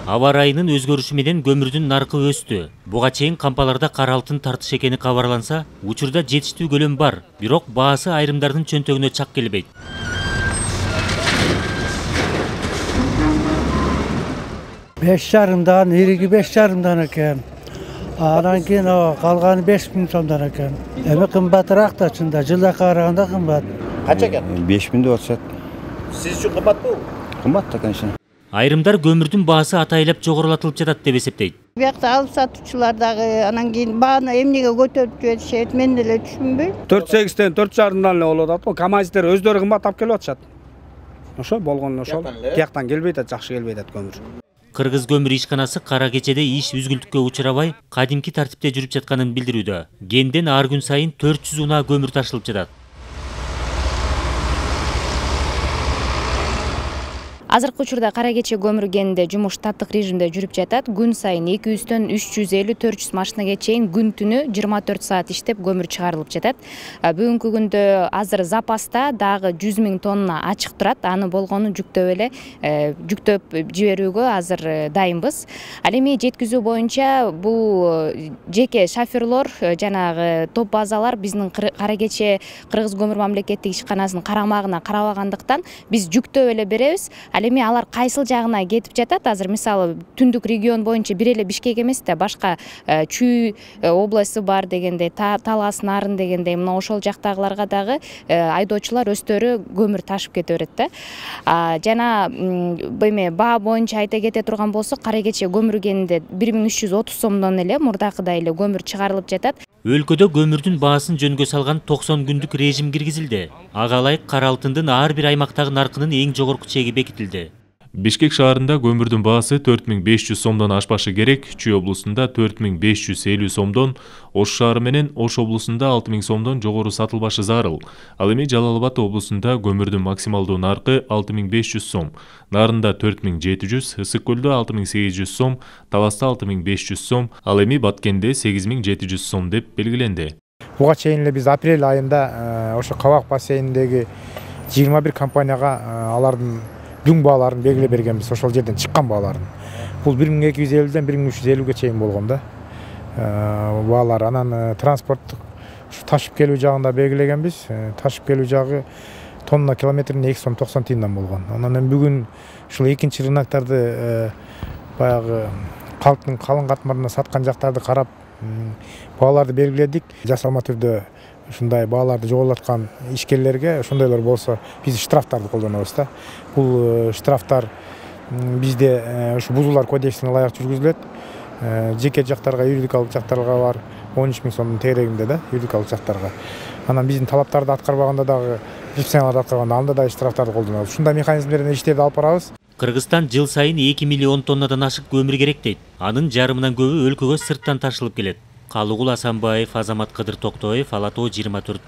Аба ырайынын өзгөрүшү менен көмүрдүн наркы өстү. Буга чейин кампаларда кара алтын тартыш экени кабарланса, учурда жетиштүү көлөм бар, бирок баасы айрымдардын чөнтөгүнө чак келбейт. Беш жарымдан, ириги 5,5 экен. Анан кийин калганы 5.000 сомдон экен. Эми кымбатыраак да чында, жылга караганда кымбат. Канча экен? 5.000 деп атышат. Сиз үчүн кымбатпы? Кымбат да, конечно. Айрымдар көмүрдүн баасы атайлап жогорулатылып жатат деп эсептейт. Биякта алып сатуучулар дагы анан кийин бааны эмнеге көтөрүп жиберишет, мен деле түшүнбөйм. 4,8-тен 4,5-дан эле болуп атат. КамАЗдер өздөрү кымбаттап келип атышат. Ошо болгон ошол. Тияктан келбейт, жакшы келбейт көмүр. Кыргыз көмүр ишканасы кара кечеде иш үзгүлтүккө учурабай, кадимки тартипте жүрүп жатканын билдирүүдө. Генден ар күн сайын 400 унаа көмүр ташылып жатат. Азыркы учурда кара кече көмүр кенинде жумуш штаттык режимде жүрүп жатат. Күн сайын 200төн 350-400 машинага чейин күн түнү 24 саат иштеп көмүр чыгарылып жатат. Бүгүнкү күндө азыр запаста дагы 100 000 тонна ачык турат. Аны болгону жүктөп жиберүүгө азыр дайынбыз. Ал эми жеткизүү боюнча бул жеке шоферлор жанагы топ базалар биздин кара кече Кыргыз көмүр мамлекеттик ишканасынын карамагына карабагандыктан биз жүктөп эле беребиз. Ал эми алар кайсыл жагына кетип жатат? Азыр мисалы түндүк регион боюнча бир эле Бишкек эмес да, башка Чүй областы бар дегендей, Талас, Нарын дегендей, мына ошол жактагыларга дагы айдоочулар өздөрү көмүр ташып кете берет да. Жана эме баа боюнча айта кете турган болсок, кара кече көмүр кенинде 1330 сомдон эле мурдакыдай эле көмүр чыгарылып жатат. Өлкөдө көмүрдүн баасын жөнгө салган 90 күндүк режим киргизилди. Ага ылайык кара алтындын ар бир аймактагы наркынын эң жогорку чеги бекитилди. Бишкек шаарында көмүрдүн баасы 4500 сомдон ашпашы керек, Чүй облусунда 4550 сомдон, Ош шаары менен Ош облусунда 6000 сомдон жогору сатылбашы зарыл. Ал эми Жалал Абад облусунда көмүрдүн максималдуу наркы 6500 сом, Нарында 4700, Ысык көлдө 6800 сом, Таласта 6500 сом, ал эми Баткенде 8700 сом деп белгиленди. Буга чейин эле биз апрель айында ошо Кабак бассейниндеги 21 компанияга алардын дүң бааларын белгилеп бергенбиз, ошол жерден чыккан бааларын. Бул 1250ден 1350ге чейин болгон да. Баалар анан транспорттук ташып келүү жагында белгилегенбиз. Ташып келүү жагы тонна километрине 2 сом 90 тиындан болгон. Анан бүгүн ушул экинчи рыноктарды баягы калктын калың катмарына саткан жактарды карап бааларды белгиледик. Жасалма түрдө ушундай бааларды жоготуп ишкерлерге ошондойлор болсо биз штрафтарды колдонобуз да. Бул штрафтар бизде ушу бузуулар кодексине ылайык жүргүзүлөт. Жеке жактарга, юридикалык жактарга бар 13 000 сомдун тегерегинде да, юридикалык жактарга. Анан биздин талаптарды аткарбаганда дагы, репрессияларды аткарганда анда да штрафтарды колдонобуз. Ушундай механизмдер менен иштерди алып барабыз. Кыргызстан жыл сайын 2 миллион тоннадан ашык көмүр керек дейт. Анын жарымынан көбү өлкөгө сырттан ташылып келет. Калыгул Асанбаев, Азамат Кыдыр Токтоев, Ала Тоо 24.